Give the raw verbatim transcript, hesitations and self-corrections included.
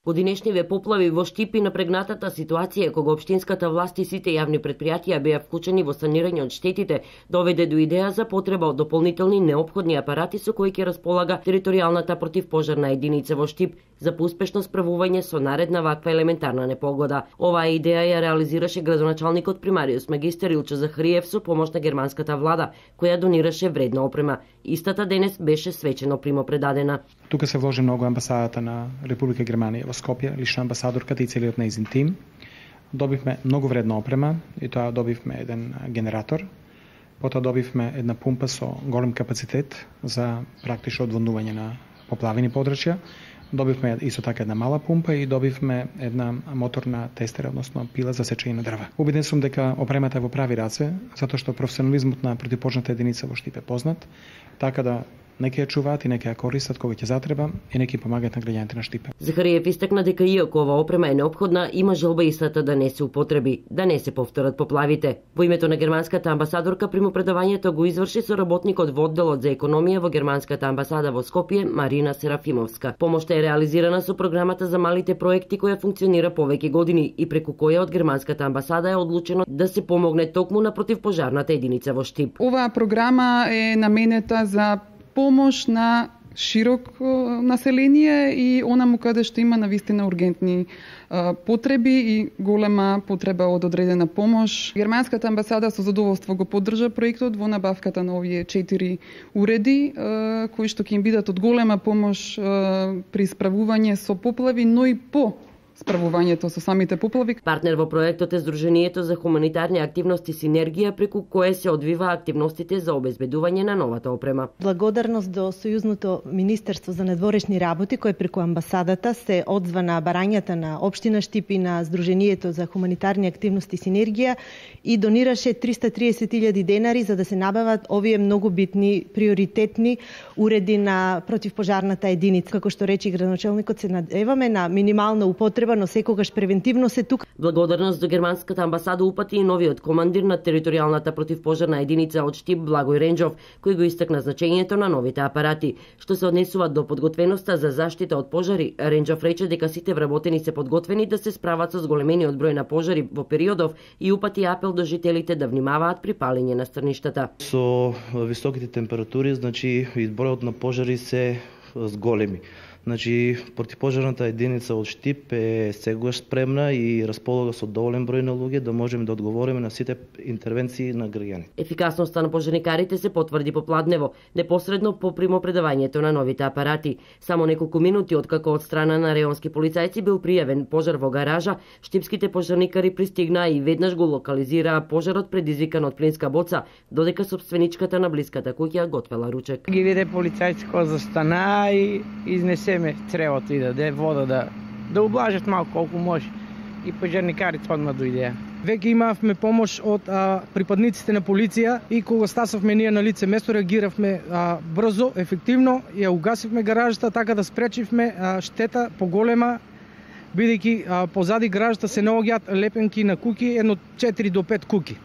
По денешниве поплави во Штип и напрегнатата ситуација кога општинската власт и сите јавни предпријатија беа вклучени во санирање од штетите, доведе до идеја за потреба од дополнителни неопходни апарати со кои ќе располага територијалната противпожарна единица во Штип за поуспешно справување со наредна ваква елементарна непогода. Оваа идеја ја реализираше градоначалникот примариус магистер Илчо Захариев со помош на германската влада, која донираше вредна опрема. Истата денес беше свечено примопредадена. Тука се вложи многу амбасадата на Република Германија во Скопје, лично амбасадорката и целиот нејзин тим. Добивме многу вредна опрема и тоа добивме еден генератор. Потоа добивме една пумпа со голем капацитет за практично одводнување на поплавени подрачја. Добивме исто така една мала пумпа и добивме една моторна тестера, односно пила за сечење на дрва. Убеден сум дека опремата е во прави раце, затоа што професионализмот на противпожарната единица во Штип е познат, така да нека ја чуваат и нека ја користат кога ќе затреба и нека им помагаат на граѓаните на Штипе. Захариев истакна дека иако ова опрема е неопходна, има желба истата да не се употреби, да не се повторат поплавите. Во името на германската амбасадорка примопредавањето го изврши со работникот во одделот за економија во германската амбасада во Скопје Марина Серафимовска. Помошта е реализирана со програмата за малите проекти која функционира повеќе години и преку која од германската амбасада е одлучено да се помогне токму на противпожарната единица во Штип. Оваа програма е наменета за помош на широк население и онаму каде што има навистина ургентни а, потреби и голема потреба од одредена помош. Германската амбасада со задоволство го поддржа проектот во набавката на овие четири уреди, а, кои што ќе им бидат од голема помош а, при справување со поплави, но и по справувањето со самите поплави. Партнер во проектот е Сдруженијето за хуманитарни активности Синергија, преку кое се одвива активностите за обезбедување на новата опрема. Благодарност до Сојузното министерство за надворешни работи, кој преку амбасадата се одзва на барањата на општина Штип и на Сдруженијето за хуманитарни активности Синергија и донираше триста и триесет илјади денари за да се набават овие многу битни приоритетни уреди на противпожарната единица. Како што рече градоначалникот, се надеваме на минимална употреба, но секогаш превентивно се тука. Благодарност до германската амбасада упати и новиот командир на територијалната противпожарна единица од Штип Благој Ренџов, кој го истакна значењето на новите апарати. Што се однесува до подготвеноста за заштита од пожари, Ренџов рече дека сите вработени се подготвени да се справат со зголемениот број на пожари во периодов и упати апел до жителите да внимаваат при палење на стрништата. Со високите температури, значи и бројот на пожари се зголеми. Значи, противпожарната единица од Штип е сегаш спремна и располага со доволен број на луѓе да можеме да одговориме на сите интервенции на граѓаните. Ефикасноста на пожарникарите се потврди попладнево, непосредно по примопредавањето на новите апарати. Само неколку минути откако од страна на реонски полицајци бил пријавен пожар во гаража, штипските пожарникари пристигнаа и веднаш го локализираа пожарот предизвикан од плинска боца, додека собственичката на блиската куќа готвела ручек. Ги виде полицајци кои застана и изнесе цревото и да даде вода да да ублажат малку колку може и пожарникарите одма дојдеа. Веќе имавме помош од а, припадниците на полиција и кога стасовме ние на лице место реагиравме а, брзо, ефективно, ја угасивме гаражата така да спречивме а, штета поголема, бидејќи позади гаражата се наоѓаат лепенки на куки, едно четири до пет куки.